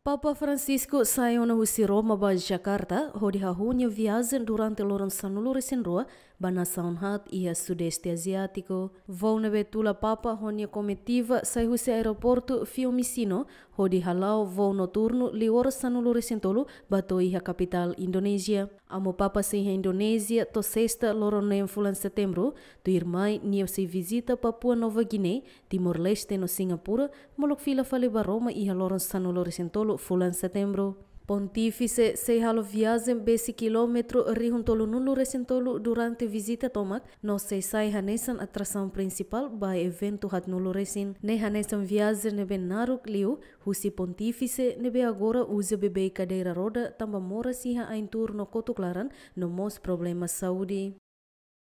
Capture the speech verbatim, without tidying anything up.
Papa Francisco sai ona husi Roma ba Jakarta hodi hahú nia viajen durante loron sanulu-resin-rua ba nasaun haat iha Sudeste Aziátiku. Voo ne'ebé tula Papa ho nia komitiva sai husi aeroportu Fiumicino hodi hala'o voo noturnu liu oras sanulu-resin-tolu ba to'o iha kapitál Indonézia. Amu Papa sei iha Indonézia to'o Sesta, loron neen fulan Setembru, tuirmai nia sei vizita Papua Nova Guiné, Timor-Leste no Singapura, molok fila fali ba Roma iha loron sanulu-resin-tolu fulan Setembru. Pontífise sei halo viajen besik kilómetru rihun tolunulu-resin-tolu durante vizita tomak, no sei sai hanesan atrasaun prinsipál ba eventu haatnulu-resin. Ne'e hanesan viajen ne'ebé naruk liu husi Pontífise ne'ebé agora uza beibeik kadeira roda tanba moras iha ain-tuur no kotuk laran no mós problema saúde.